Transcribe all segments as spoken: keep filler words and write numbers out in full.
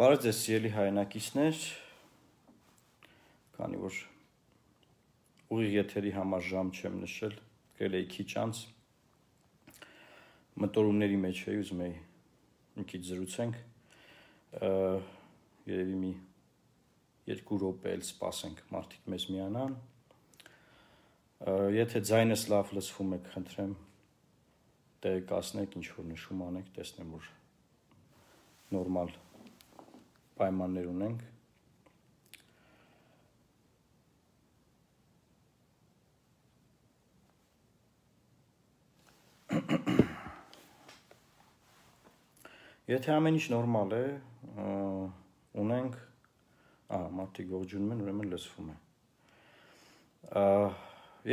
Բարև ձեզ սիրելի հայրենակիցներ, քանի որ ուղիղ եթերի համար ժամ չեմ նշել, գրել էի քիչ անց, մտորումների մեջ էի, ուզում էի մի քիչ զրուցենք, երևի մի երկու րոպե էլ սպասենք մարդիկ մեզ միանան, եթե ձայնս լավ լսվում եք, խնդրեմ տեղեկացնեք, ինչ որ նշում անեք, տեսնեմ որ նորմալ պայմաններ ունենք։ Եթե ամեն ինչ նորմալ է, ունենք, ահա, մարդիկ ողջունում են, ուրեմն լսվում է։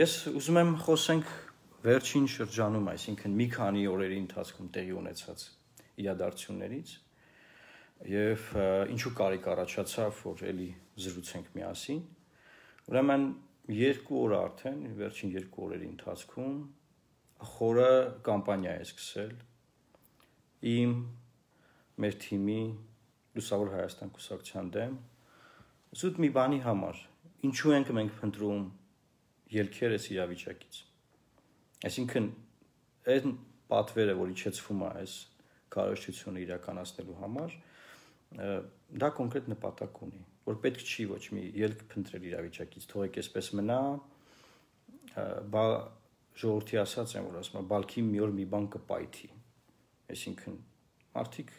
Ես ուզում եմ խոսենք վերջին շրջանում, այսինքն մի քանի օրերի ընթացքում տեղի ունեցած իրադարձություններից և ինչու կարիք առաջացավ, որ էլի զրուցենք միասին, ուրեմն երկու օր արդեն, վերջին երկու օրերի ընթացքում խորը կամպանիա է սկսել իմ, մեր թիմի, Լուսավոր Հայաստան կուսակցության դեմ, զուտ մի բանի համար, ինչու ենք մենք փնտրում ելքերս իրավիճակից, այսինքն այն պատվերը, որ իջեցվում է այս քարոզչությունը իրականացնելու համար, դա կոնկրետ նպատակ ունի, որ պետք չի ոչ մի ելք փնտրել իրավիճակից, թողեք այսպես մնա, ժողովրդի ասած են, որ ասում են, բալքի մի օր մի բան կպայթի, այսինքն մարդիկ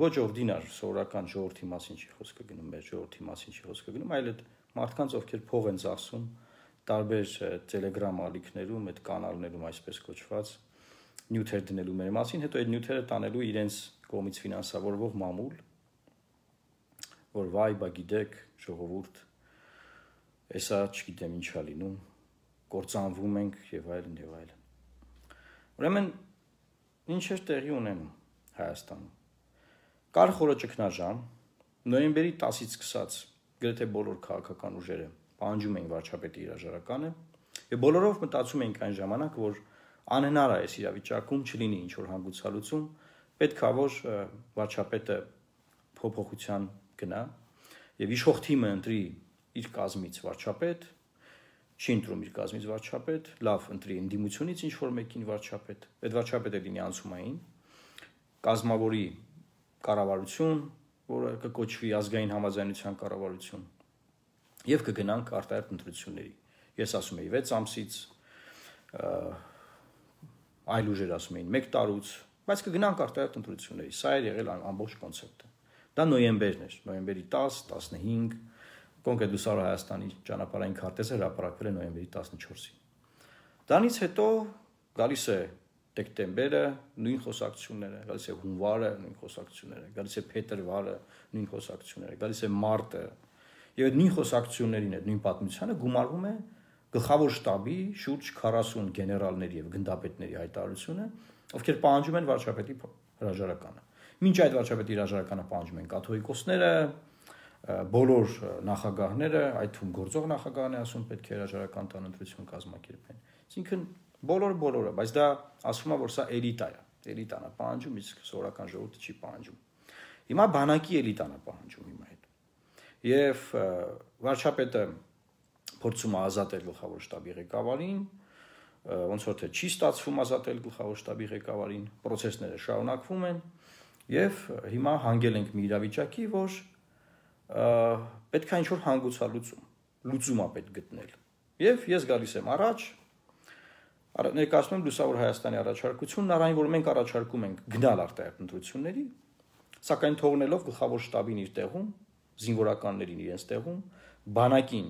ոչ օրդինար սովորական ժողովրդի մասին չի խոսքը գնում, մեր ժողովրդի մասին չի խոսքը գնում, այլ այդ մարդկանց, ովքեր փող են ծախսում տարբեր տելեգրամ ալիքներում, այդ կանալներում այսպես կոչված նյութեր դնելու մեր մասին, հետո այդ նյութերը տանելու իրենց կողմից ֆինանսավորվող մամուլ, որ վայ, բա գիտեք, ժողովուրդ, էսա չգիտեմ ինչ ա լինում, կործանվում ենք եւ այլն եւ այլն։ Ուրեմն ինչեր տեղի ունենում Հայաստանում։ Կար խորը ճգնաժամ, նոյեմբերի տասից սկսած գրեթե բոլոր քաղաքական ուժերը պահանջում էին վարչապետի հրաժարականը եւ բոլորով մտածում էինք այն ժամանակ, որ անհնար է այս իրավիճակում չլինի ինչ որ հանգուցալուծում, պետք է որ վարչապետը փոփոխության գնա եւ իշխող թիմը ընտրի իր կազմից վարչապետ, չի ընտրում իր կազմից վարչապետ, լավ ընտրի ընդդիմությունից ինչ որ մեկին վարչապետ, այդ վարչապետը լինի անցումային, կազմավորի կառավարություն, որը կկոչվի ազգային համաձայնության կառավարություն եւ կգնանք արտահերթ ընտրությունների։ Ես ասում եի վեց ամսից, այլ ուժեր ասում էին մեկ տարուց, բայց կգնանք արտահերթ ընտրությունների։ Սա էր եղել ամբողջ կոնցեպտը։ Դա նոյեմբերն էր, նոյեմբերի տաս, տասնհինգ, կոնկրետ Լուսավոր Հայաստանի ճանապարհային քարտեզը հրապարակվել է նոյեմբերի տասնչորսին։ Դրանից հետո գալիս է դեկտեմբերը, նույն խոսակցությունները, գալիս է հունվարը, նույն խոսակցությունները, գալիս է փետրվարը, նույն խոսակցությունները, գալիս է մարտը, եւ այդ նույն խոսակցություններին, այդ նույն պատմությանը գումարվում է գլխավոր շտաբի շուրջ քառասուն գեներալների եւ գնդապետների հայտարարությունը, ովքեր պահանջում են վարչապետի հրաժարականը։ Մինչ այդ վարչապետի հրաժարականը պահանջում են կաթողիկոսները, բոլոր նախագահները, այդ թվում գործող նախագահն է ասում պետք է հրաժարական տան ընտրություն կազմակերպեն։ Այսինքն բոլոր բոլորը, բայց դա ասում է, որ սա էլիտա է, էլիտան է պահանջում, իսկ սովորական ժողովուրդը չի պահանջում։ Հիմա բանակի էլիտան է պահանջում հիմա այդ։ Եվ վարչապետը փորձում է ազատել գլխավոր շտաբի ղեկավարին, ոնց որ թե չի ստացվում ազատել գլխավոր շտաբի ղեկավարին, process-ները շարունակվում են եւ հիմա հանգել ենք մի իրավիճակի, որ պետք է ինչ-որ հանգուցալուծում, լուծում է պետք գտնել։ Եվ ես գալիս եմ առաջ, ներկայացնում եմ Լուսավոր Հայաստանի առաջարկությունն, առայն որ մենք առաջարկում ենք գնալ արտահերթ ընտրությունների, սակայն թողնելով գլխավոր շտաբին իր տեղում, զինվորականներին իրենց տեղում, բանակին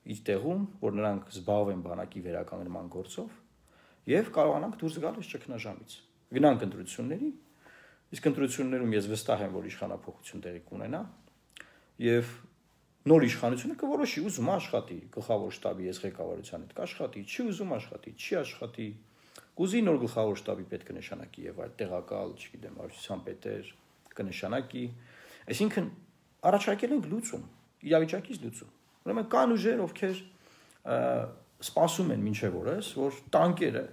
իր տեղում, որ նրանք զբաղվեն բանակի վերականգնման գործով, եւ կարողանանք դուրս գալ այս ճգնաժամից։ Գնանք ընտրությունների, իսկ ընտրություններում ես վստահ եմ, որ իշխանափոխություն տեղի կունենա, եւ նոր իշխանությունը կորոշի ուզում աշխատի գլխավոր շտաբի ես ղեկավարության հետ կաշխատի, չի ուզում աշխատի, չի աշխատի, կուզի նոր գլխավոր շտաբի պետ կնշանակի եւ այլ տեղակալ, չգիտեմ, վարչության պետեր կնշանակի, այսինքն առաջարկել ենք լուծում, իրավիճակից լուծում։ Ուրեմն կան ուժեր, ովքեր սպասում են մինչև օրս, որ տանկերը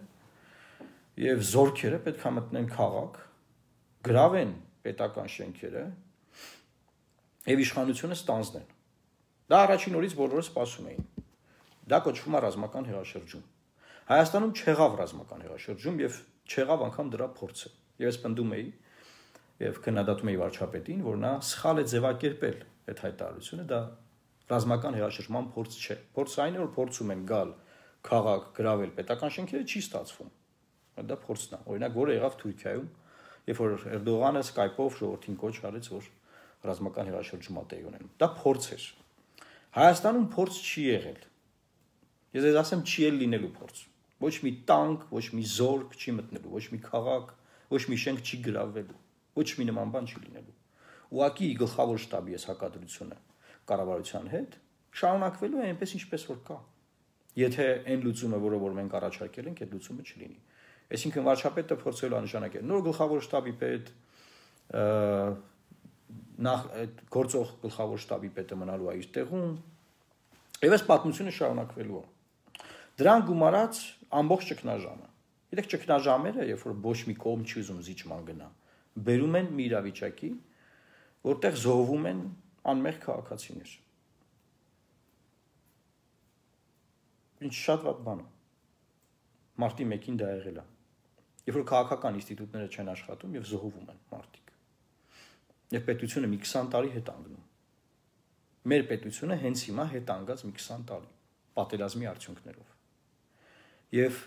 եւ զորքերը պետք է մտնեն քաղաք, գրավեն պետական շենքերը եւ իշխանությունը ստանձնեն։ Դա առաջին օրից բոլորը սպասում էին։ Դա կոչվում է ռազմական հեղաշրջում։ Հայաստանում չեղավ ռազմական հեղաշրջում եւ չեղավ անգամ դրա փորձը։ Եվ ես պնդում էի եւ քննադատում էի վարչապետին, որ նա սխալ է ձևակերպել այդ հայտարարությունը, դա ռազմական հեղաշրջման փորձ չէ։ Փորձը այն է, որ փորձում են գալ քաղաք, գրավել պետական շենքերը, չի ստացվում։ Դա փորձն է։ Օրինակ, որը եղավ Թուրքիայում, երբ որ Էրդողանը Skype-ով ժողովրդին կոչ արեց, որ ռազմական հեղաշրջում է տեղի ունենում։ Դա փորձ էր։ Հայաստանում փորձ չի եղել։ Ես ես ասեմ, չի էլ լինելու փորձ։ Ոչ մի տանկ, ոչ մի զորք չի մտնելու, ոչ մի քաղաք, ոչ մի շենք չի գրավելու, ոչ մի նման բան չի լինելու։ Ուղղակի գլխավոր շտաբի էս հակադրությունը կառավարության հետ շարունակվելու է այնպես ինչպես որ կա։ Եթե այն լուծումը, որը որ մենք առաջարկել ենք, այդ լուծումը չլինի։ Այսինքն վարչապետը փորձելու անշանակել նոր գլխավոր շտաբի պետ, նախ այդ գործող գլխավոր շտաբի պետը մնալու է իր տեղում, եւ այս պատմությունը շարունակվելու է։ Դրան գումարած ամբողջ ճգնաժամը։ Գիտեք, ճգնաժամերը, երբ որ ոչ մի կողմ չի ուզում զիջման գնա, բերում են մի իրավիճակի, որտեղ զոհվում են անմեղ քաղաքացիներ։ Ինչ շատ վատ բան է։ Մարտի մեկին դա եղել է։ Երբ որ քաղաքական ինստիտուտները չեն աշխատում եւ զոհվում են մարդիկ։ Եվ պետությունը մի քսան տարի հետ անգնում։ Մեր պետությունը հենց հիմա հետ անգած մի քսան տարի պատերազմի արդյունքներով։ Եվ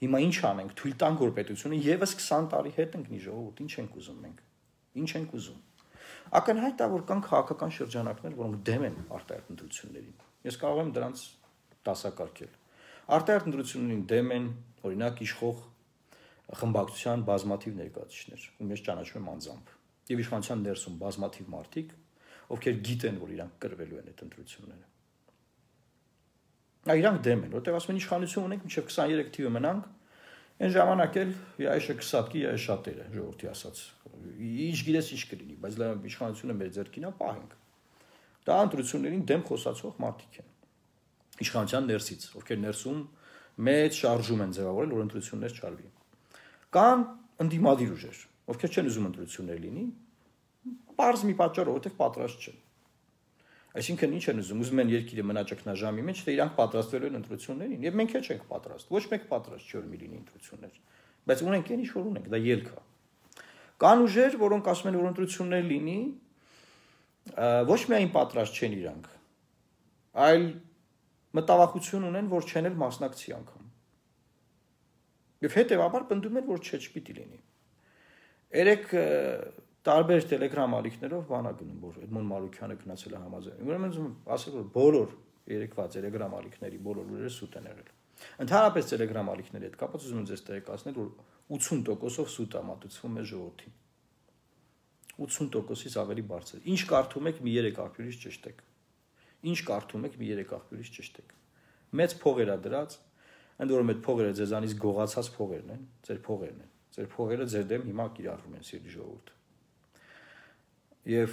հիմա ինչ անենք, թույլ տանք որ պետությունը եւս քսան տարի հետ ընկնի ժողովուրդ, ինչ ենք ուզում մենք։ Ինչ ենք ուզում։ Ակնհայտ է, որ կան քաղաքական շրջանակներ, որոնք դեմ են արտահայտ ընտրություններին։ Ես կարող եմ դրանց դասակարգել։ Արտահայտ ընտրություններին դեմ են, օրինակ, իշխող խմբակցության բազմաթիվ ներկայացուցիչներ, ում ես ճանաչում եմ անձամբ, եւ իշխանության ներսում բազմաթիվ մարդիկ, ովքեր գիտեն, որ իրանք կրվելու են այդ ընտրությունները։ Նա իրանք դեմ են, որտեղ ասում են իշխանություն ունենք, մինչև քսաներեք թիվը մնանք, այն ժամանակ էլ яйշը կսատկի, яй շատերը, ժողովրդի ասած։ Ինչ գիտես ինչ կլինի, բայց լավ իշխանությունը մեր ձեռքին է, պահենք։ Դա ընտրություններին դեմ խոսացող մարդիկ են։ Իշխանության ներսից, ովքեր ներսում մեծ շարժում են ձևավորել, որ ընտրություններ չարվի։ Կան ընդդիմադիր ուժեր, ովքեր չեն ուզում ընտրություններ լինի, պարզ մի պատճառով, որտեղ պատրաստ չեն։ Այսինքն ինչ են ուզում, ուզում են երկիրը մնա ճգնաժամի մեջ, թե իրանք պատրաստվելու են ընտրություններին, եւ մենք էլ չենք պատրաստ։ Ոչ մեկ պատրաստ չի որ մի լինի ընտրություններ, բայց ունենք այն ինչ որ ունենք, դա ելք է։ Կան ուժեր, որոնք ասում են որ ընտրություններ լինի, ոչ միայն պատրաստ չեն իրանք, այլ մտավախություն ունեն, որ չեն էլ մասնակցի անգամ։ Եվ հետևաբար պնդում են, որ չէ, չպիտի լինի։ Երեք տարբեր տելեգրամ ալիքներով բանա գնում, որ Էդմոն Մարուկյանը գնացել է համաձայն։ Ուրեմն ուզում ասել, որ բոլոր երեկվա տելեգրամ ալիքների բոլոր լուրերը սուտ են եղել։ Ընդհանրապես տելեգրամ ալիքների հետ կապված ուզում եմ ձեզ տեղեկացնել, որ ութսուն տոկոսով սուտ է մատուցվում մեր ժողովրդին։ ութսուն տոկոսից ավելի բարձր։ Ինչ կարդում եք, մի երեք աղբյուրից ճշտեք։ Ինչ կարդում եք, մի երեք աղբյուրից ճշտեք։ Մեծ փողեր է դրած, ընդ որում այդ փողերը ձեզանից գողացած փողերն են, ձեր փողերն են։ Ձեր փողերը ձեր դեմ հիմա կիրառվում են սիրելի ժողովուրդ։ Եվ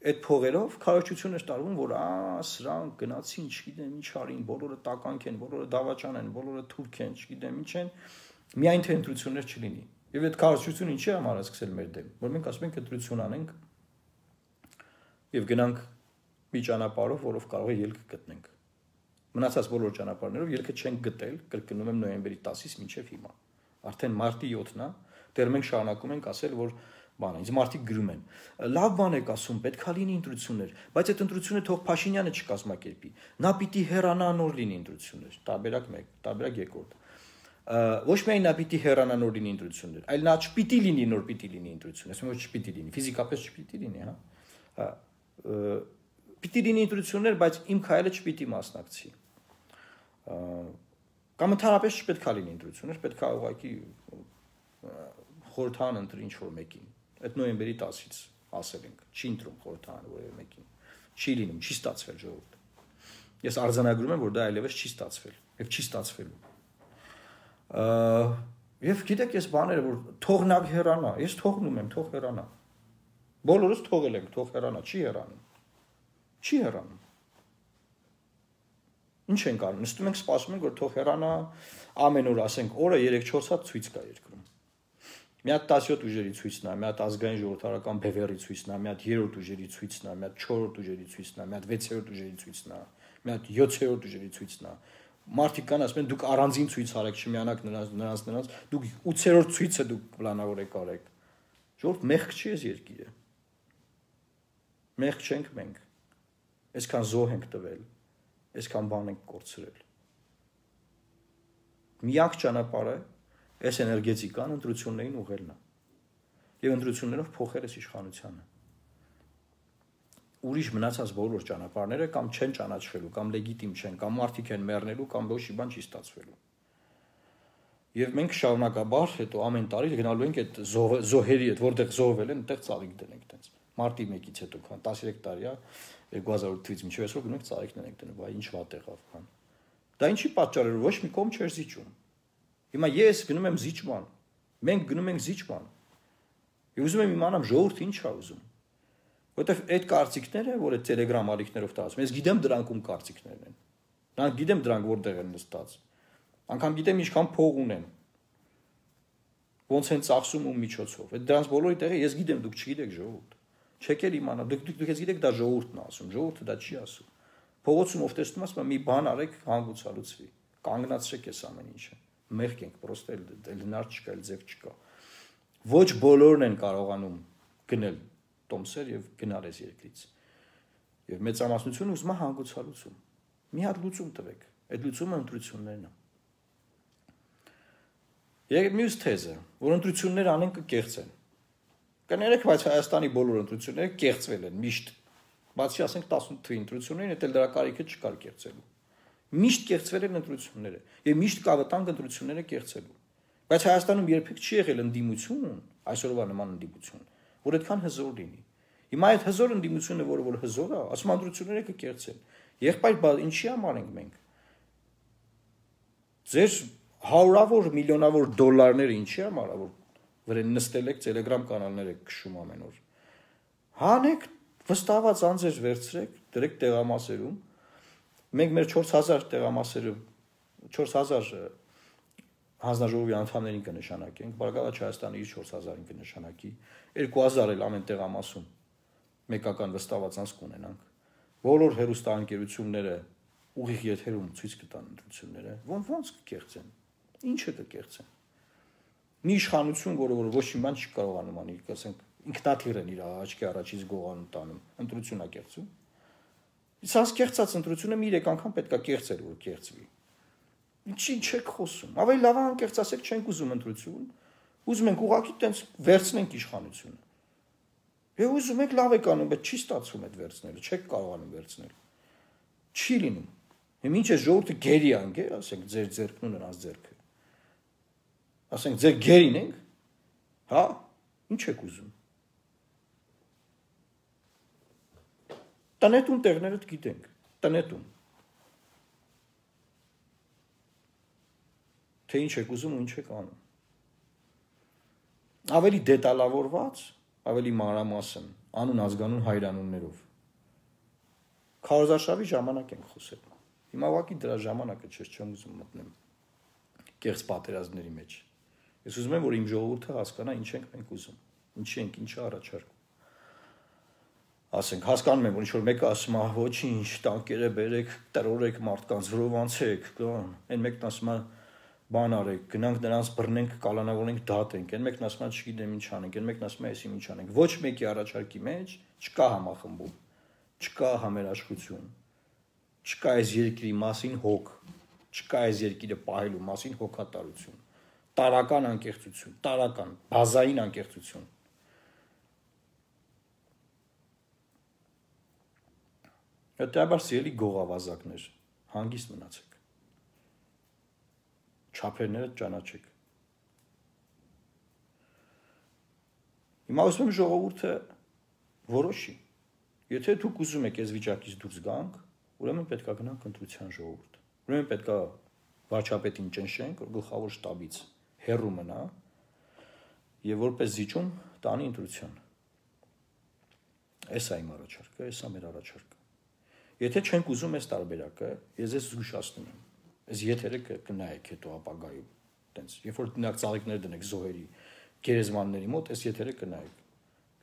այդ փողերով քարոզչություն է տարվում, որ ա սրանք գնացին, չգիտեմ ինչ արին, բոլորը տականք են, բոլորը դավաճան են, բոլորը թուրք են, չգիտեմ ինչ են, միայն թե ընտրություններ չլինի։ Եվ այդ քարոզչությունը ինչի համար է սկսել մեր դեմ, որ մենք ասում ենք ընտրություն անենք եւ գնանք մի ճանապարհով, որով կարող է ելք գտնենք։ Մնացած բոլոր ճանապարհներով ելքը չենք գտել, կրկնում եմ նոյեմբերի տասից մինչև հիմա։ Արդեն մարտի յոթն է, դեռ մենք շարունակում ենք ասել, որ բանը, ինձ մարդիկ գրում են։ Լավ բան եք ասում, պետք է լինի ընտրություններ, բայց այդ ընտրությունը թող Փաշինյանը չկազմակերպի։ Նա պիտի հեռանա նոր լինի ընտրություններ։ Տարբերակ մեկ, տարբերակ երկրորդ։ Ոչ միայն նա պիտի հեռանա նոր լինի ընտրություններ, այլ նա չպիտի լինի նոր պիտի լինի ընտրություններ, ասում եմ չպիտի լինի, ֆիզիկապես չպիտի լինի, հա։ Պիտի լինի ընտրություններ, բայց իմ քայլը չպիտի մասնակցի։ Կամ ընդհանրապես չպետք է լինի ընտրություններ, պետք է ուղղակի խորհրդան ընտրի ինչ-որ մեկին։ Այդ նոյեմբերի տասից ասել ենք, չի ընտրում խորհրդան որևէ մեկին։ Չի լինում, չի ստացվել ժողովուրդ։ Ես արձանագրում եմ, որ դա այլևս չի ստացվել, եւ չի ստացվելու։ Եվ գիտեք, ես բաները, որ թողնակ հեռանա, ես թողնում եմ, թող հեռանա։ Բոլորս թողել ենք, թող հեռանա, չի հեռանում։ Չի հեռանում։ Ինչ ենք անում, նստում ենք, սպասում ենք, որ թող հեռանա, ամեն օր ասենք, օրը երեք չորս հատ ցույց կա երկրում։ Մի հատ տասնյոթ ուժերի ցույց նա, մի հատ ազգային ժողովրդական բևեռի ցույց նա, մի հատ երրորդ ուժերի ցույց նա, մի հատ չորրորդ ուժերի ցույց նա, մի հատ վեցերորդ ուժերի ցույց նա, մի հատ յոթերորդ ուժերի ցույց նա։ Մարդիկ կան ասում են դուք առանձին ցույց արեք, չմիանաք նրանց նրանց նրանց, դուք ութերորդ ցույցը դուք պլանավորեք արեք։ Ժողովուրդ մեղք չի էս երկիրը։ Մեղք չենք մենք։ Այսքան զոհ ենք տվել, այսքան բան ենք կորցրել։ Միակ ճանապարհը այս էներգետիկան ընտրություններին ուղղելն է։ Եվ ընտրություններով փոխել այս իշխանությունը։ Ուրիշ մնացած բոլոր ճանապարհները կամ չեն ճանաչվելու, կամ լեգիտիմ չեն, կամ մարդիկ են մեռնելու, կամ ոչ մի բան չի ստացվելու։ Եվ մենք շարունակաբար հետո ամեն տարի գնալու ենք այդ զոհերի հետ, որտեղ զոհվել են, այդտեղ ծաղիկ դնենք տենց։ Մարտի մեկից հետո քան տասներեք տարի է, երկու հազար ութից մինչև այսօր գնում ենք ծաղիկներ ենք դնում, բայ ինչ վատ եղավ քան։ Դա ինչի պատճառով ոչ մի կողմ չէր զիջում։ Հիմա ես գնում եմ զիջման։ Մենք գնում ենք զիջման։ Եվ ուզում եմ իմանամ ժողովուրդը ինչ է ուզում։ Որտեվ այդ կարծիքները, որ այդ Telegram ալիքներով տալիս, ես գիտեմ դրանք ում կարծիքներն են։ Նրանք գիտեմ դրանք որտեղ են նստած։ Անկամ գիտեմ ինչքան փող ունեն։ Ոնց են ծախսում ու միջոցով։ Այդ դրանց բոլորի տեղը ես գիտեմ, դուք չգիտեք ժողովուրդ։ Չեք էլ իմանա, դուք դուք ես գիտեք դա ժողովուրդն է ասում, ժողովուրդը դա չի ասում։ Փողոցում ով տեսնում ասում մի բան արեք, հանգուցալուծվի։ Կանգնացրեք այս ամեն ինչը։ Մեղք ենք, պրոստը էլ հնար չկա, էլ ձև չկա։ Ոչ բոլորն են կարողանում գնել տոմսեր եւ գնալ այս երկրից։ Եվ մեծամասնությունը ուզում է հանգուցալուծում։ Մի հատ լուծում տվեք։ Այդ լուծումը ընտրություններն է։ Եվ մյուս թեզը, որ ընտրություններ անեն կկեղծեն։ Կներեք, բայց Հայաստանի բոլոր ընտրությունները կեղծվել են միշտ։ Բացի ասենք տասնութ թվականի ընտրություններին, դա դրա կարիքը չկար կեղծելու։ Միշտ կեղծվել են ընտրությունները եւ միշտ կա վտանգ ընտրությունները կեղծելու։ Բայց Հայաստանում երբեք չի եղել ընդդիմություն, այսօրվա նման ընդդիմություն, որ այդքան հզոր լինի։ Հիմա այդ հզոր ընդդիմությունը, որը որ հզոր է, ասում ընտրությունները կկեղծեն։ Եղբայր ինչի համար ենք մենք։ Ձեր հարյուրավոր միլիոնավոր դոլարները ինչի համար է, որ վրան նստել եք Telegram կանալներ եք քշում ամեն օր։ Հանեք վստահված անձեր վերցրեք, դրեք տեղամասերում։ Մենք մեր չորս հազար տեղամասերը չորս հազար հանձնաժողովի անդամներին կնշանակենք, Բարգավաճ Հայաստանը իր չորս հազարին կնշանակի, երկու հազար էլ ամեն տեղամասում մեկական վստահված անձ կունենանք։ Բոլոր հեռուստաընկերությունները ուղիղ եթերում ցույց կտան ընտրությունները, ոնց կկեղծեն։ Ինչը կկեղծեն։ Մի իշխանություն, որը որ ոչ մի բան չի կարողանում անել, ասենք ինքնաթիռ են իր աչքի առաջից գողանում տանում, ընտրություն է կեղծում։ Իսկ կեղծած ընտրությունը մի երեք անգամ պետքա կեղծել, որ կեղծվի։ Ինչի՞ չեք խոսում։ Ավելի լավ անկեղծ ասեք, չենք ուզում ընտրություն, ուզում ենք ուղղակի տենց վերցնենք իշխանությունը։ Եվ ուզում եք լավ եք անում, բայց չի ստացվում այդ վերցնելը, չեք կարողանում վերցնել։ Չի լինում։ Հիմա ինչ է ժողովուրդը գերի անգեր, ասենք ձեր ձեռքն ու նրանց ձեռքը։ Ասենք ձեր գերին ենք, հա, ինչ եք ուզում։ Տնետուն տեղները գիտենք, տնետուն։ Թե ինչ եք ուզում ու ինչ եք անում։ Ավելի դետալավորված, ավելի մանրամասն, անուն ազգանուն հայրանուններով։ Քարոզարշավի ժամանակ ենք խոսել։ Հիմա ուղղակի դրա ժամանակը չէ, չեմ ուզում մտնեմ կեղծ պատերազմների մեջ։ Ես ուզում եմ, որ իմ ժողովուրդը հասկանա ինչ ենք մենք ուզում, ինչի ենք, ինչը առաջարկում։ Ասենք, հասկանում եմ, որ ինչ-որ մեկը ասում է, ոչինչ, տանկերը բերեք, տրորեք մարդկանց, վրով անցեք, այն մեկն ասում է, բան արեք, գնանք նրանց բռնենք, կալանավորենք, դատենք, այն մեկն ասում է, չգիտեմ ինչ անենք, այն մեկն ասում է, էսի ինչ անենք։ Ոչ մեկի առաջարկի մեջ չկա համախմբում, չկա համերաշխություն, չկա այս երկրի մասին հոգ, չկա այս երկիրը պահելու մասին հոգատարություն։ Տարական անկեղծություն, տարական, բազային անկեղծություն։ Հետաբար սիրելի գողավազակներ, հանգիստ մնացեք։ Չափերները ճանաչեք։ Հիմա ուզում եմ ժողովուրդը որոշի։ Եթե դուք ուզում եք այս վիճակից դուրս գանք, ուրեմն պետք է գնանք ընտրության ժողովուրդ։ Ուրեմն պետք է վարչապետին ճնշենք, որ գլխավոր շտաբից հեռու մնա եւ որպես զիջում տանի ընտրության։ Էս է իմ առաջարկը, էս է մեր առաջարկը։ Եթե չենք ուզում այս տարբերակը, ես ես զգուշացնում եմ։ Այս եթերը կնայեք հետո ապագայում, տենց, երբ որ դնակ ծաղիկներ դնեք զոհերի, գերեզմանների մոտ այս եթերը կնայեք։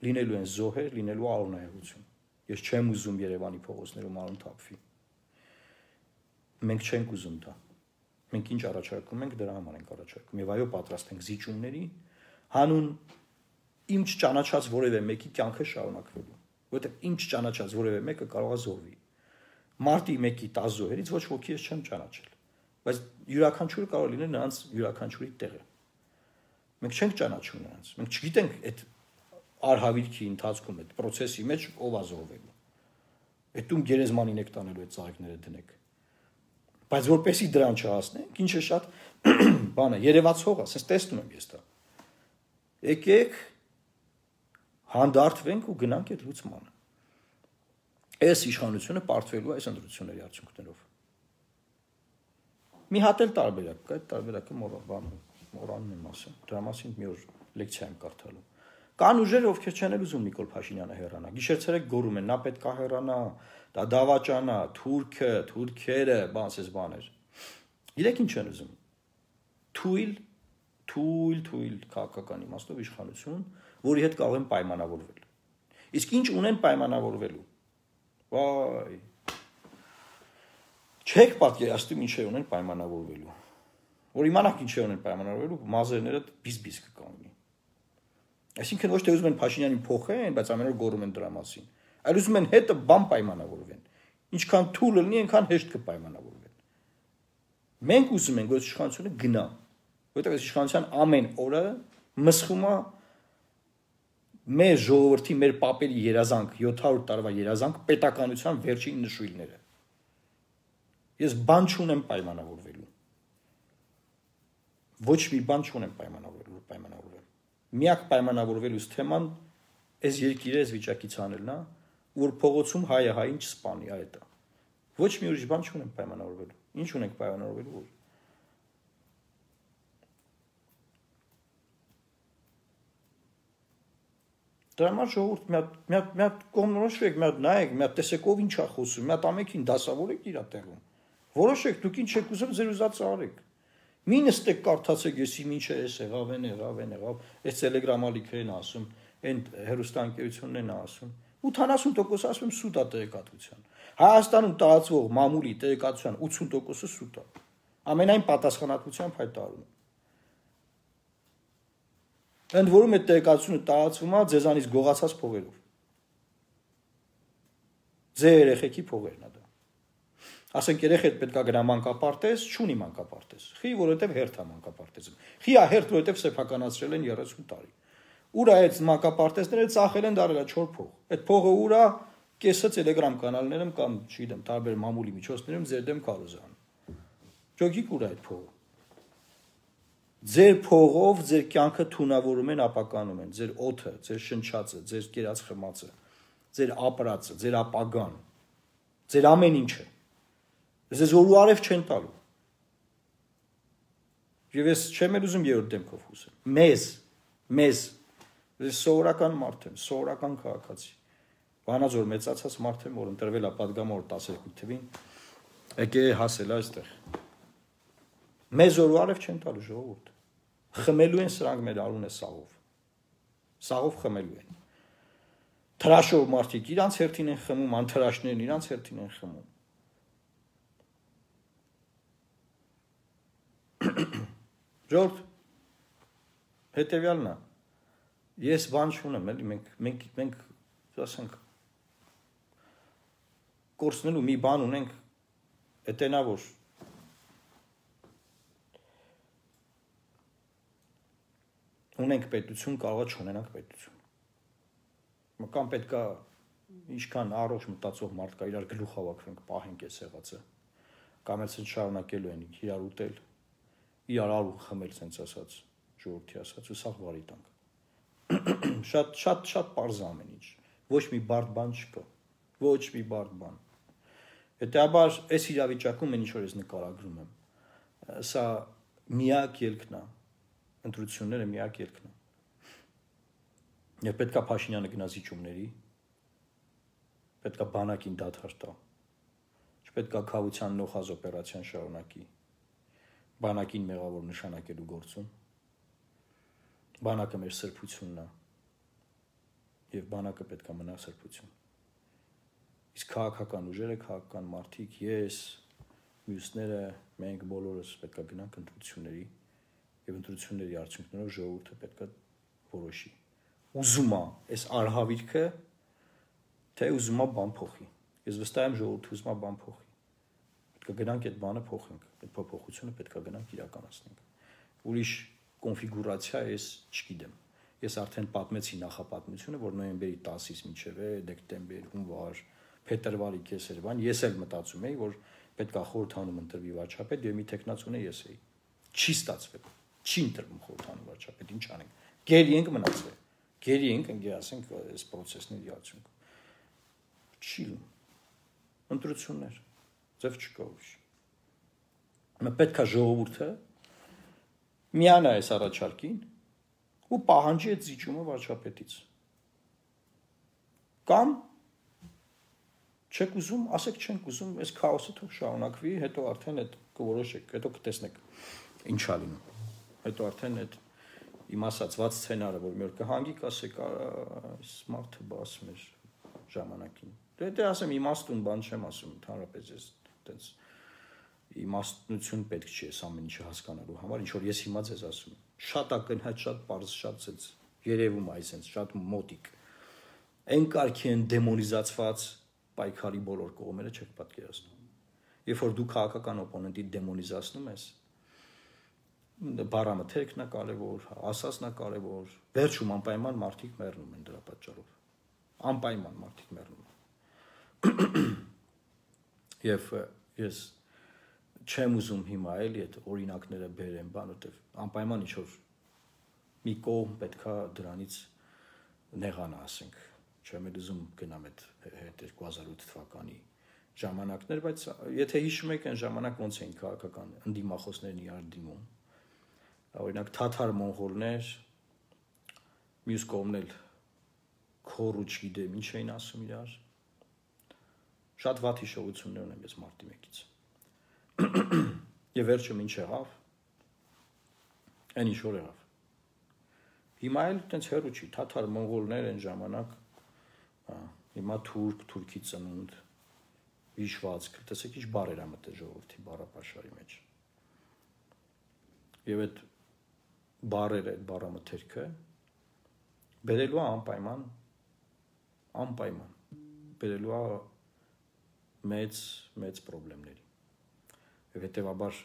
Լինելու են զոհեր, լինելու արոնայություն։ Ես չեմ ուզում Երևանի փողոցներում արուն թափվի։ Մենք չենք ուզում դա։ Մենք ինչ առաջարկում ենք, դրա համար ենք առաջարկում։ Եվ այո, պատրաստ ենք զիջումների հանուն իմ չճանաչած որևէ մեկի կյանքը շարունակվելու, որովհետև իմ չճանաչած որևէ մեկը կարող է զոհվի։ Մարտի մեկի տասը զոհերից ոչ ոքի ես չեմ ճանաչել, բայց յուրաքանչյուրը կարող լինել նրանց յուրաքանչյուրի տեղը։ Մենք չենք ճանաչում նրանց, մենք չգիտենք այդ արհավիրքի ընթացքում, այդ process-ի մեջ ով է զոհվելու։ Այդ ում գերեզմանին եք տանելու այդ ծաղիկները դնեք։ Բայց որպեսի դրան չհասնենք, ինչը շատ բան է, երևացող է, ասես տեսնում եմ ես դա։ Եկեք հանդարտվենք ու գնանք այդ լուծմանը։ Այս իշխանությունը պարտվելու է այս ընտրությունների արդյունքներով։ Մի հատ էլ տարբերակ կա, այդ տարբերակը մոռանում եմ ասեմ, դրա մասին մի օր լեկցիա եմ կարդալու։ Կան ուժեր, ովքեր չեն էլ ուզում Նիկոլ Փաշինյանը հեռանա։ Գիշեր-ցերեկ գոռում են, նա պետք է հեռանա, դա դավաճանա, թուրքը, թուրքերը, բանսես բաներ։ Իրենք ինչ են ուզում։ Թույլ, թույլ, թույլ քաղաքական իմաստով իշխանություն, որի հետ կարող են պայմանավորվել։ Իսկ ինչ ունեն պայմանավորվելու։ Վայ։ Չեք պատկերացնում ինչ ունեն պայմանավորվելու։ Որ իմանաք ինչ ունեն պայմանավորվելու, մազերները բիզ-բիզ կկանգնի։ Այսինքն ոչ թե ուզում են Փաշինյանին փոխեն, բայց ամեն օր գոռում են դրա մասին։ Այլ ուզում են հետը բան պայմանավորվեն։ Ինչքան թույլ լինի, այնքան հեշտ կպայմանավորվեն։ Մենք ուզում ենք, որ իշխանությունը գնա, որովհետև այս իշխանության ամեն օրը մսխում է մեր ժողովրդի, մեր պապերի երազանք, յոթ հարյուր տարվա երազանք, պետականության վերջին նշույլները։ Ես բան չունեմ պայմանավորվելու։ Ոչ մի բան չունեմ պայմանավորվելու, պայմանավորվելու։ Միակ պայմանավորվելուց թեման այս երկիրը այս վիճակից անելն է, որ փողոցում հայը հային չսպանի, այդ է։ Ոչ մի ուրիշ բան չունեմ պայմանավորվելու։ Ինչ ունենք պայմանավորվելու որ։ Դրա համար ժողովուրդ մի հատ մի հատ մի հատ կողմնորոշվեք, մի հատ նայեք, մի հատ տեսեք ով ինչ է խոսում, մի հատ ամենքին դասավորեք իր տեղում։ Որոշեք, դուք ինչ եք ուզում, ձեր ուզածը արեք։ Մի նստեք կարդացեք, ես իմ ինչ է, էս եղավ, են եղավ, են եղավ, այս տելեգրամալիքերն ասում, այն հերոստանգերություններն ասում։ ութանասուն տոկոս ասում եմ սուտ է տեղեկատվության։ Հայաստանում տարածվող մամուլի տեղեկատվության ութսուն տոկոսը սուտ է։ Ամենայն պատասխանատվությամբ հայտարարում եմ։ Ընդ որում այդ տեղեկատվությունը տարածվում է ձեզանից գողացած փողերով։ Ձեր երեխեքի փողերն է դա։ Ասենք երեխեդ պետք է գնա մանկապարտեզ, չունի մանկապարտեզ։ Խի, որովհետև հերթ է մանկապարտեզը։ Խի է հերթ, որովհետև սեփականացրել են երեսուն տարի։ Ուր է այդ մանկապարտեզները ծախել են դարել է չոր փող։ Այդ փողը ուր է, կեսը Telegram կանալներում կամ, չգիտեմ, տարբեր մամուլի միջոցներում ձեր դեմ կարոզան։ Ճոգիկ ուր է այդ փողը։ Ձեր փողով ձեր կյանքը թունավորում են, ապականում են, ձեր օդը, ձեր շնչածը, ձեր կերած խմածը, ձեր ապրածը, ձեր ապագան, ձեր ամեն ինչը։ Ես որ ու արև չեն տալու։ Եվ ես չեմ էլ ուզում երրորդ դեմքով խոսել։ Մեզ, մեզ, ես սովորական մարդ եմ, սովորական քաղաքացի։ Վանաձոր մեծացած մարդ եմ, որ ընտրվել է պատգամավոր տասներկու թվին, եկե հասել այստեղ։ Մեզ որ ու արև չեն տալու ժողովուրդ։ Խմելու են սրանք մեր արունը սաղով։ Սաղով խմելու են։ Թրաշով մարդիկ իրանց հերթին են խմում, անթրաշներն իրանց հերթին են խմում։ Ժողովուրդ, հետևյալն է, ես բան չունեմ, էլի, մենք, մենք, մենք, ասենք, կորցնելու մի բան ունենք, էտենա որ, ունենք պետություն, կարող է չունենանք պետություն։ Կամ պետք է, ինչքան առողջ մտածող մարդ կա, իրար գլուխ հավաքվենք, պահենք այս եղածը, կամ էլ շարունակելու են իրար ուտել, իրար արու խմել սենց ասած, ժողովրդի ասած, ու սաղ վարի տանք։ Շատ, շատ, շատ պարզ ամեն ինչ, ոչ մի բարդ բան չկա, ոչ մի բարդ բան։ Հետեաբար, այս իրավիճակում են ինչ-որ ես նկարագրում եմ, սա միակ ելքն է, ընտրությունները միակ ելքն է։ Եվ պետք է Փաշինյանը գնա զիջումների, պետք է բանակին դադար տա, չպետք է քավության նոխազ օպերացիան շարունակի, բանակին մեղավոր նշանակելու գործում, բանակը մեր սրբությունն է եւ բանակը պետք է մնա սրբություն։ Իսկ քաղաքական ուժերը, քաղաքական մարդիկ, ես, մյուսները, մենք բոլորս պետք է գնանք ընտրությունների եւ ընտրությունների արդյունքներով ժողովուրդը պետք է որոշի։ Ուզում է այս արհավիրքը, թե ուզում է բան փոխի։ Ես վստահ եմ ժողովուրդը ուզում է բան փոխի։ Պետք է գնանք այդ բանը փոխենք, այդ փոփոխությունը պետք է գնանք իրականացնենք։ Ուրիշ կոնֆիգուրացիա ես չգիտեմ։ Ես արդեն պատմեցի նախապատմությունը, որ նոյեմբերի տասից մինչև դեկտեմբեր, հունվար, փետրվարի կեսերվան ես էլ մտածում էի, որ պետք է խորհրդանում ընտրվի վարչապետ եւ մի տեխնացուն ես էի։ Չի ստացվել։ Չի ընտրվում խորհրդանում վարչապետ, ինչ անենք։ Գերի ենք մնացել։ Գերի ենք, ընկեր ասենք, այս process-ների արդյունք։ Չի լինում։ Ընտրություններ։ Ձև չկա ուրիշ։ Մենք պետք է ժողովուրդը միանա այս առաջարկին ու պահանջի այդ զիջումը վարչապետից։ Կամ չեք ուզում, ասեք չենք ուզում, այս քաոսը թող շարունակվի, հետո արդեն այդ կորոշեք, հետո կտեսնեք ինչա լինում։ Հետո արդեն այդ իմ ասացված սցենարը, որ մի օր կհանգի կասեք, այս մարդը բաս մեր ժամանակին։ Դե դե ասեմ իմաստուն բան չեմ ասում, ընդհանրապես ես այտենց իմաստնություն պետք չի այս ամեն ինչը հասկանալու համար, ինչ որ ես հիմա ձեզ ասում եմ։ Շատ ակնհայտ, շատ պարզ, շատ ցած երևում է այսպես, շատ մոտիկ։ Այն կարգի են դեմոնիզացված պայքարի բոլոր կողմերը չեք պատկերացնում։ Երբ որ դու քաղաքական օպոնենտի դեմոնիզացնում ես, բառամթերքն է կարևոր, ասածն է կարևոր, վերջում անպայման մարդիկ մեռնում են դրա պատճառով։ Անպայման մարդիկ մեռնում են։ Եվ ես չեմ ուզում հիմա էլի այդ օրինակները բերեմ, բան, որտեվ անպայման ինչ որ մի կողմ պետքա դրանից նեղանա, ասենք, չեմ էլ ուզում գնամ այդ երկու հազար ութ թվականի ժամանակներ, բայց եթե հիշում եք այն ժամանակ ոնց էին քաղաքական ընդդիմախոսներն իրար դիմում, օրինակ թաթար մոնղոլներ, մյուս կողմն էլ քորու չգիտեմ ինչ էին ասում իրար, շատ վատ հիշողություններ ունեմ ես մարտի մեկից։ Եվ վերջում ինչ եղավ, այն ինչ որ եղավ։ Հիմա էլ տենց հեռու չի, թաթար մոնղոլներ են ժամանակ, հիմա թուրք, թուրքի ծնունդ, հիշվածք, տեսեք ինչ բառեր ա մտել ժողովրդի բառապաշարի մեջ։ Եվ այդ բառերը, այդ բառամթերքը բերելու է անպայման, անպայման, բերելու է մեծ, մեծ պրոբլեմների։ Եվ հետևաբար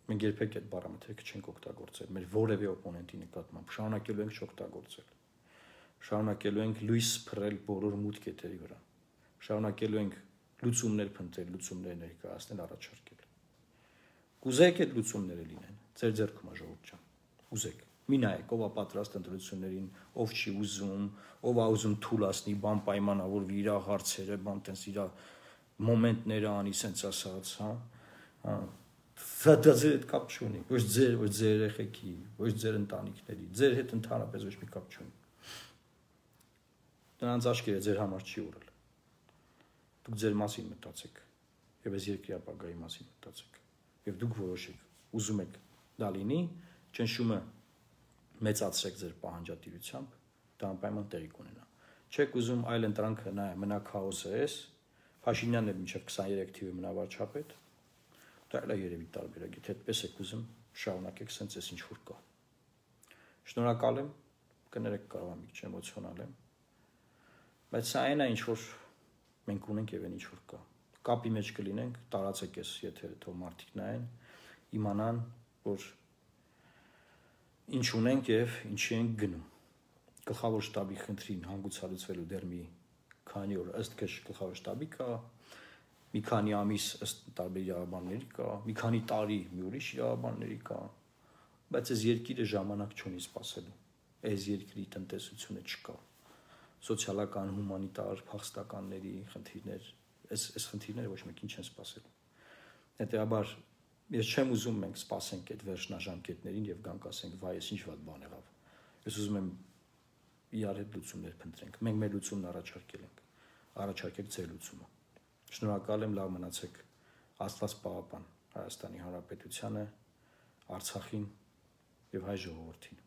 մենք երբեք այդ բառամթերքը չենք օգտագործել, մեր որևէ օպոնենտի նկատմամբ, շարունակելու ենք չօգտագործել, շարունակելու ենք լույս փռել բոլոր մութ կետերի վրա, շարունակելու ենք լուծումներ փնտրել, լուծումներ ներկայացնել, առաջարկել։ Կուզեք այդ լուծումները լինեն, ձեր ձեռքում է ժողովուրդ ջան, ուզեք, մի նայեք, ով է պատրաստ ընտրություններին, ով չի ուզում, ով է ուզում թուլացնի, բան պայմանավորվի իր հարցերը, բան տենց իր մոմենտները անի, սենց ասած, հա, հա, դա ձեր հետ կապ չունի, ոչ ձեր, ոչ ձեր երեխեքի, ոչ ձեր ընտանիքների, ձեր հետ ընդհանրապես ոչ մի կապ չունի։ Նրանց աչքերը ձեր համար չի ուրել։ Դուք ձեր մասին մտածեք, եւ այս երկրի ապագայի մասին մտածեք, եւ դուք որոշեք, ուզում եք դա լինի, ճնշումը մեծացրեք ձեր պահանջատիրությամբ, դա անպայման տեղի կունենա։ Չեք ուզում այլ ընտրանքը նայ մնա քաոսը էս, Փաշինյանն էլ մինչև քսաներեք թիվը մնա վարչապետ, դա էլ է երևի տարբերակ, եթե այդպես եք ուզում, շարունակեք սենց էս ինչ որ կա։ Շնորհակալ եմ, կներեք կարող եմ մի քիչ էմոցիոնալ եմ, բայց սա այն է ինչ որ մենք ունենք եւ այն ինչ որ կա։ Կապի մեջ կլինենք, տարածեք էս եթերը, թող մարդիկ նայեն, իմանան, որ ինչ ունենք եւ ինչի ենք գնում։ Գլխավոր շտաբի խնդրին հանգուցալուծվելու դեռ մի քանի օր ըստ քեզ գլխավոր շտաբի կա, մի քանի ամիս ըստ տարբեր իրավաբանների կա, մի քանի տարի մի ուրիշ իրավաբանների կա, բայց այս երկիրը ժամանակ չունի սպասելու։ Այս երկրի տնտեսությունը չկա։ Սոցիալական, հումանիտար, փախստականների խնդիրներ, այս այս խնդիրները ոչ մեկին չեն սպասելու։ Հետեւաբար ես չեմ ուզում մենք սպասենք այդ վերջնաժամկետներին եւ գանք ասենք վայ, ես ինչ վատ բան եղավ։ Ես ուզում եմ իրար հետ լուծումներ փնտրենք։ Մենք մեր լուծումն առաջարկել ենք։ Առաջարկեք ձեր լուծումը։ Շնորհակալ եմ, լավ մնացեք։ Աստված պահապան Հայաստանի Հանրապետությանը, Արցախին եւ հայ ժողովրդին։